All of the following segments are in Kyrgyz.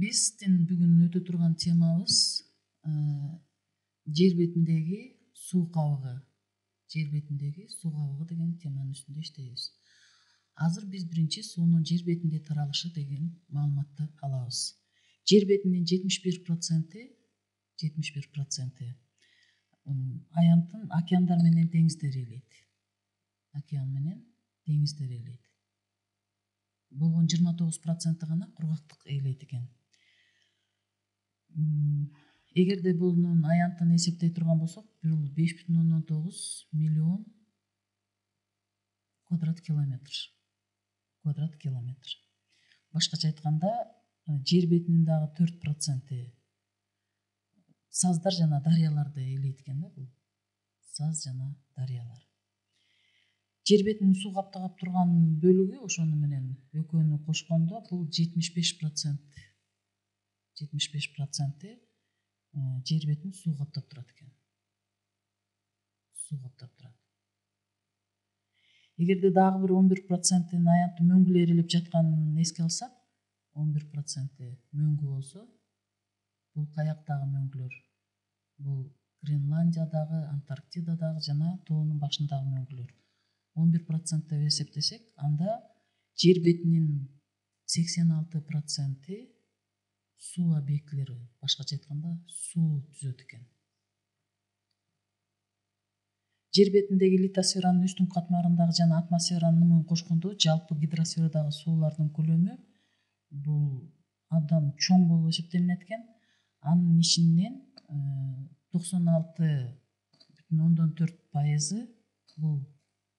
Биздин бүгүн өтө турган темабыз жер бетиндеги суу кабыгы. Жер бетиндеги суу кабыгы деген теманын үстүндө иштейбиз. Азыр биз биринчи суунун жер бетинде таралышы деген маалыматты алабыз. Жер бетинин 71% аянтын океандар менен деңиздер ээлейт. Океан менен деңиздер ээлейт. Болгон 29% гана кургактык ээлейт экен. Эгерде бунун аянтын эсептей турган болсок, бул 5,9 миллион квадрат километр. Башкача айтканда, жер бетинин дагы 4% саздар жана дарыяларды ээлейт экен да бул. Саз жана дарыялар. Жер бетинин суу каптап турган бөлүгү ошону менен экөөнү кошкондо бул 75% жер бетин суу каптап турат экен. Суу каптап турат. Эгерде дагы бир 11% аянты мөңгү ээрелеп жатканын эске алсак, 11% мөңгү болсо, бул каяктагы мөңгүлөр? Бул Гренландиядагы, Антарктидадагы жана тоонун башындагы мөңгүлөр. 11% деп эсептесек, анда жер бетинин 86% суу объектилери, башкача айтканда, суу түзөт экен. Жер бетиндеги литосферанын үстүнкү катмарындагы жана атмосферанын нумун кошкондо жалпы гидросферадагы суулардын көлөмү бул абдан чоң болуп эсептелинет экен. Анын ичинен 96,4% бул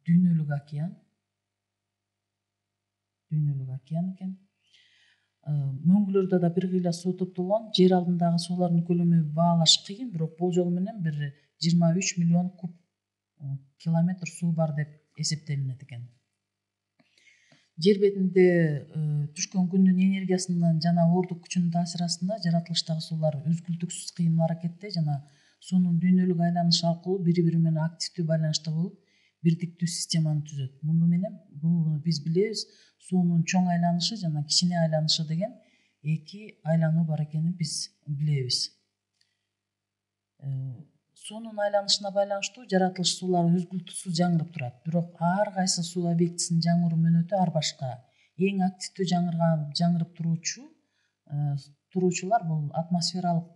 дүйнөлүк океан. Экен. Мөңгүлөрдө да бир кыйла суу топтолгон. Жер алдындагы суулардын көлөмү баалаш кыйын, бирок болжол менен бир 23 миллион куб километр суу бар деп эсептелинет экен. Жер бетинде түшкөн күндүн энергиясынын жана оордук күчүнүн таасири астында жаратылыштагы суулар үзгүлтүксүз кыймыл аракетте жана суунун дүйнөлүк айланышы аркылуу бири-бири менен активдүү байланышта болуп, бирдиктүү системаны түзөт. Муну менен бул биз билебиз, суунун чоң айланышы жана кичине айланышы деген эки айлануу бар экенин биз билебиз. Суунун айланышына байланыштуу жаратылыш суулары үзгүлтүксүз жаңырып турат. Бирок ар кайсы суу объектисинин жаңыруу мөөнөтү ар башка. Эң активдүү жаңырып туруучулар бул атмосфералык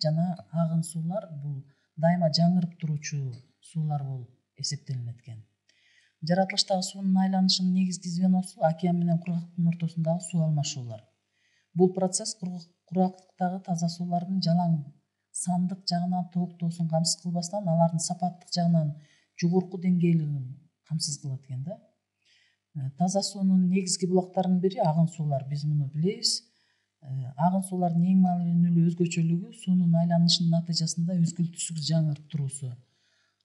жана агын суулар, бул дайыма жаңырып туруучу суулар болуп эсептелинет экен. Жаратылыштагы суунун айланышынын негизги звеносу океан менен кургактыктын ортосундагы суу алмашуулар. Бул процесс кургактыктагы таза суулардын жалаң сандык жагынан толуктоосун камсыз кылбастан, алардын сапаттык жагынан жогорку деңгээлин камсыз кылат экен да. Таза суунун негизги булактарынын бири агын суулар. Биз муну билебиз. Агын суулардын эң маанилүү өзгөчөлүгү суунун айланышынын натыйжасында үзгүлтүксүз жаңырып туруусу.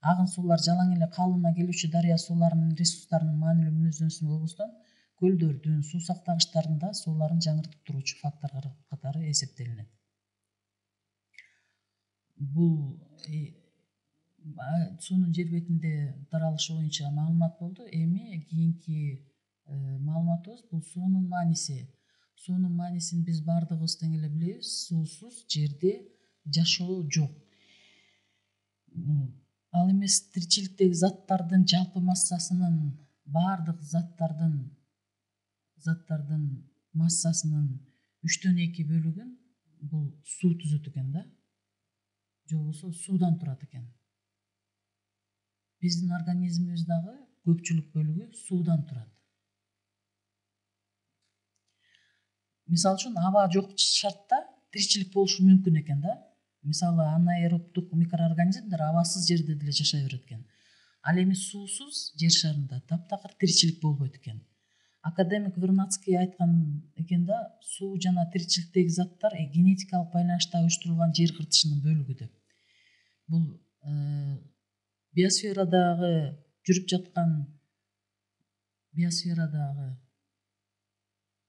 Агын суулар жалаң эле калыбына келүүчү дарыя сууларынын ресурстарынын маанилүү мүнөздөмөсү болбостон, көлдөрдүн, суу сактагычтардын да сууларын жаңыртып туруучу фактор катары эсептелинет. Бул суунун жер бетинде таралышы боюнча маалымат болду. Эми кийинки маалыматыбыз бул суунун мааниси. Суунун маанисин биз баардыгыбыз тең эле билебиз. Суусуз жерде жашоо жок. Ал эмес тиричиликтеги заттардын жалпы массасынын, баардык заттардын массасынын 2/3 бөлүгүн бул суу түзөт экен да. Же болбосо суудан турат экен. Биздин организмибиз дагы көпчүлүк бөлүгү суудан турат. Мисалы үчүн аба жок шартта тиричилик болушу мүмкүн экен да. Мисалы, анаэробдук микроорганизмдер абасыз жерде деле жашай берет экен. Ал эми суусуз жер шарында таптакыр тиричилик болбойт экен. Академик Вернадский айткан экен да, суу жана тиричиликтеги заттар генетикалык байланышта уюштурулган жер кыртышынын бөлүгү деп. Бул биосферадагы жүрүп жаткан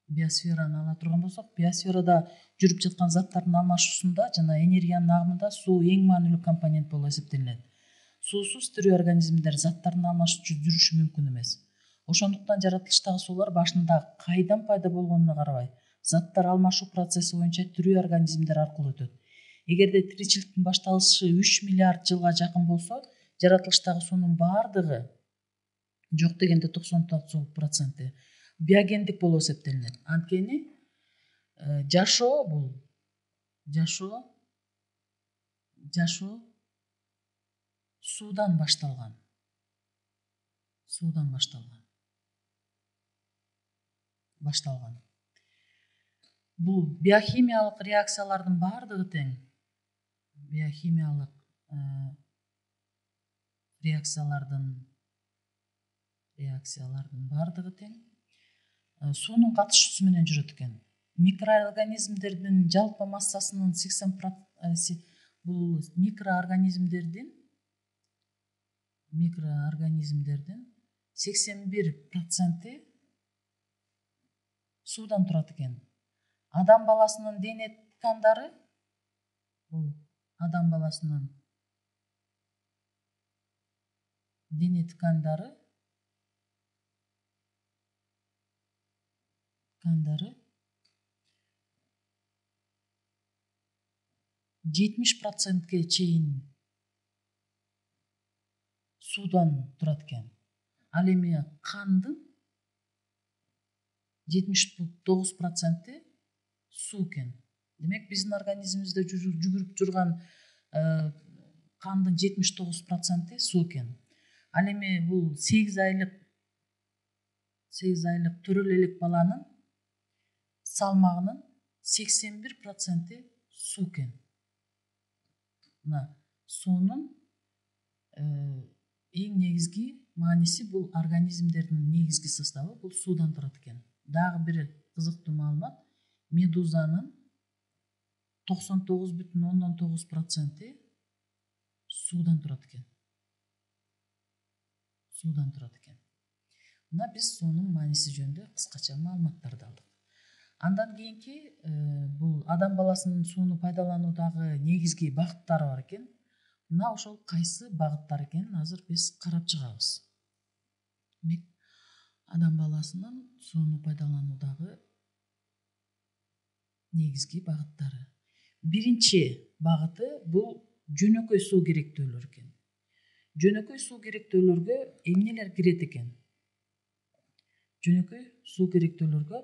биосфераны ала турган болсок, биосферада жүрүп жаткан заттардын алмашуусунда жана энергиянын агымында суу эң маанилүү компонент болуп эсептелинет. Суусуз тирүү организмдер заттардын алмашып жүрүшү мүмкүн эмес. Ошондуктан жаратылыштагы суулар башында кайдан пайда болгонуна карабай, заттар алмашуу процесси боюнча тирүү организмдер аркылуу өтөт. Эгерде тиричиликтин башталышы 3 миллиард жылга жакын болсо, жаратылыштагы суунун баардыгы жок дегенде 99% биогендик болуп эсептелинет. Анткени жашоо бул суудан башталган. Бул биохимиялык реакциялардын баардыгы тең. Биохимиялык реакциялардын баардыгы тең. Суунун катышуусу менен жүрөт экен. Микроорганизмдердин жалпы массасынын 80% бул микроорганизмдердин 81% суудан турат экен. Адам баласынын дене ткандары бул адам баласынын дене ткандары 70%ге чейин суудан турат экен. Ал эми кандын 79% суу экен. Демек биздин организмибизде жүгүрүп жүргөн кандын 79% суу экен. Ал эми бул 8 айлык төрөлө элек баланын салмагынын 81% суу экен. Мына суунун эң негизги мааниси бул организмдердин негизги составы бул суудан турат экен. Дагы бир кызыктуу маалымат, медузанын 99,9% суудан турат экен. Мына биз суунун мааниси жөнүндө кыскача маалыматтарды алдык. Андан кийинки бул адам баласынын сууну пайдалануудагы негизги багыттары бар экен. Мына ошол кайсы багыттар экенин азыр биз карап чыгабыз. Демек, адам баласынын сууну пайдалануудагы негизги багыттары. Биринчи багыты бул жөнөкөй суу керектөөлөр экен. Жөнөкөй суу керектөөлөргө эмнелер кирет экен? Жөнөкөй суу керектөөлөргө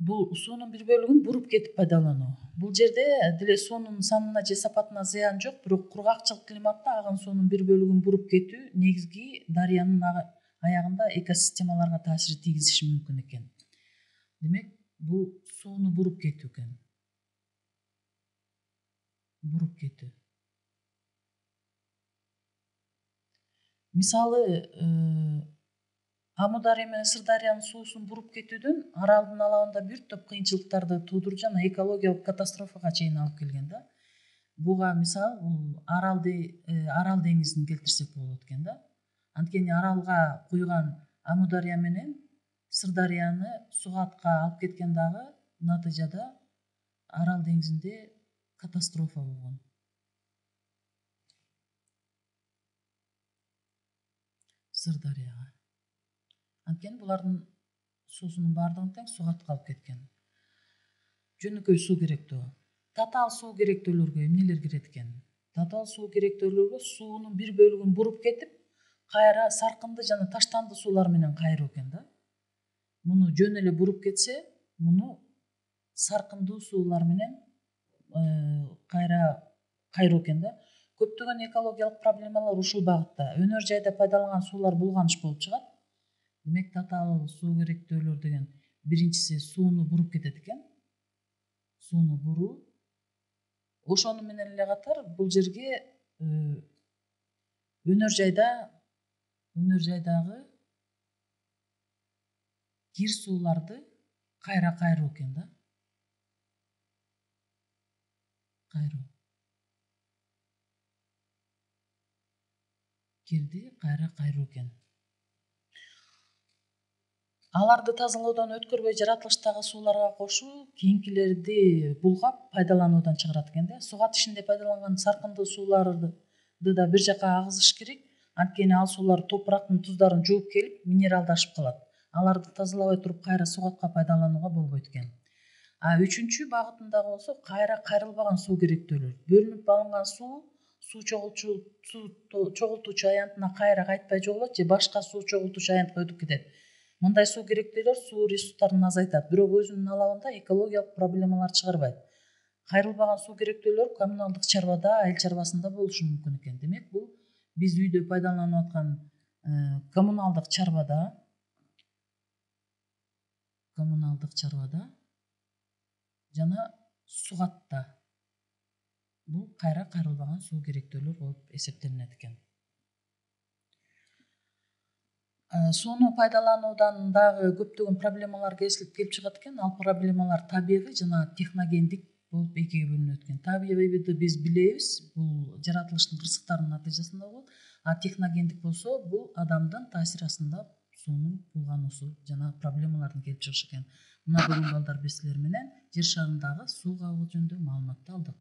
бул суунун бир бөлүгүн буруп кетип пайдалануу. Бул жерде деле суунун санына же сапатына зыян жок, бирок кургакчыл климатта агын суунун бир бөлүгүн буруп кетүү негизги дарыянын аягында экосистемаларга таасир тийгизиши мүмкүн экен. Демек, бул сууну буруп кетүү экен. Мисалы, Амудария менен Сырдариянын суусун буруп кетүүдөн аралдын алабында бир топ кыйынчылыктарды туудуруп жана экологиялык катастрофага чейин алып келген да. Буга мисал бул Арал деңизин келтирсек болот экен да. Анткени аралга куйган Амудария менен Сырдарияны сугатка алып кеткен дагы натыйжада Арал деңизинде катастрофа болгон. Сырдарияга. Анткени булардын суусунун баардыгын тең сугатка алып кеткен. Жөнөкөй суу керектөө. Татаал суу керектөөлөргө эмнелер кирет экен? Татаал суу керектөөлөргө суунун бир бөлүгүн буруп кетип, кайра саркынды жана таштанды суулар менен кайруу экен да. Муну жөн эле буруп кетсе, муну саркындуу суулар менен кайра кайруу экен да. Көптөгөн экологиялык проблемалар ушул багытта. Өнөр жайда пайдаланган суулар булганыш болуп чыгат. Демек, татаал суу керектөөлөр деген биринчиси сууну буруп кетет экен. Сууну буруу. Ошону менен эле катар бул жерге өнөр жайдагы кир сууларды кайра кайруу экен да. Кирди кайра кайруу экен. Аларды тазалоодон өткөрбөй жаратылыштагы сууларга кошуу кийинкилерди булгап пайдалануудан чыгарат экен да. Сугат ишинде пайдаланган саркындуу сууларды да бир жака агызыш керек. Анткени ал суулар топурактын туздарын жууп келип минералдашып калат. аларды тазалабай туруп кайра сугатка пайдаланууга болбойт экен. А үчүнчү багытындагы болсо кайра кайрылбаган суу керектөөлөр. Бөлүнүп алынган суу чогултуучу аянтына кайра кайтпай жоголот же башка суу чогултуучу аянтка өтүп кетет. Мындай суу керектөөлөр суу ресурстарын азайтат, бирок өзүнүн алабында экологиялык проблемалар чыгарбайт. Кайрылбаган суу керектөөлөр коммуналдык чарбада, айыл чарбасында болушу мүмкүн экен. Демек, бул биз үйдө пайдаланып аткан коммуналдык чарбада жана сугатта бул кайра кайрылбаган суу керектөөлөр болуп эсептелинет экен. Сууну пайдалануудан дагы көптөгөн проблемалар келип чыгат экен. Ал проблемалар табигый жана техногендик болуп экиге бөлүнөт экен. Табигыйды биз билебиз, бул жаратылыштын кырсыктарынын натыйжасында болот. А техногендик болсо бул адамдын таасир астында суунун булгануусу жана проблемалардын келип чыгышы экен. Мына бүгүн балдар биз силер менен жер шарындагы суу кабыгы жөнүндө маалыматты алдык.